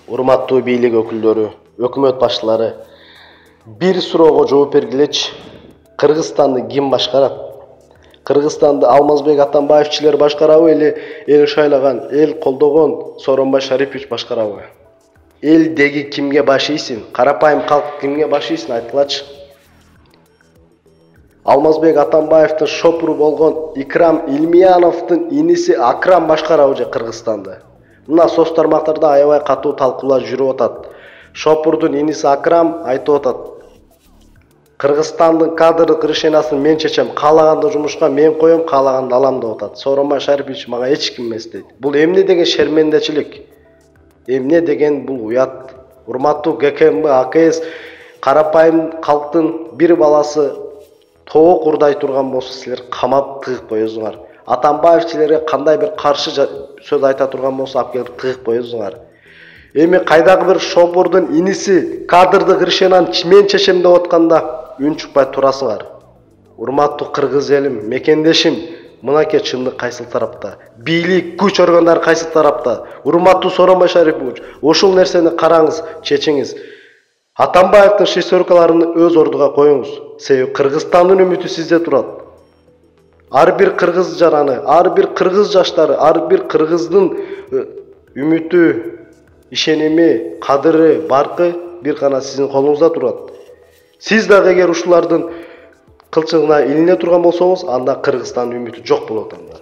Урматтуу бийлик өкүлдөрү, өкмөт башчылары, бир суроого жооп бергилечи. Кыргызстанды ким башкарат? Кыргызстанды Алмазбек Атамбаевчилер башкарабы эле эл шайлаган, эл колдогон Сооронбай Шарипович башкарабы? Элдеги кимге баш ийсин? Карапайым калк кимге баш ийсин айткылачы. Алмазбек Атамбаевдин шопуру болгон Икрам Илмияновдун иниси Акрам башкарабы же Кыргызстанды? Мына соц тармактарда аябай катуу талкуулар жүрүп атат. Шопурдун иниси Акрам айтып атат: Кыргызстандын кадрлык решениясын мен чечем, каалаганды жумушка мен коем, каалаганды алам деп атат. Сооронбай Шарипович мага эч ким эмес дейт. Бул эмне деген шермендечилик? Эмне деген бул уят? Урматтуу ГКМБ, АКС карапайым калктын бир баласы тоок урдай турган болсо силер камап тыгып коесуңар. Атамбаевчилерге кандай бир каршы сөз айта турган болсо алып келип тыгып коесуңар. Эми кайдагы бир шопурдун иниси кадрдык решенияны мен чечем деп атканда үн чыкпай турасыңар. Урматтуу кыргыз элим, мекендешим, мынакей чындык кайсыл тарапта? Бийлик, күч органдары кайсыл тарапта? Урматтуу Сооронбай Шарипович, ошол нерсени караңыз, чечиңиз. Атамбаевдин шестеркаларын өз ордуга коюңуз. Себеби Кыргызстандын үмүтү сизде турат. Ар бир кыргыз жараны, ар бир кыргыз жаштары, ар бир кыргыздын үмүтү, ишеними, кадыры, баркы бир гана сиздин колуңузда турат. Сиз дагы эгер ушулардын кылчыгына илине турган болсоңуз, анда Кыргызстандын үмүтү жок болот анда.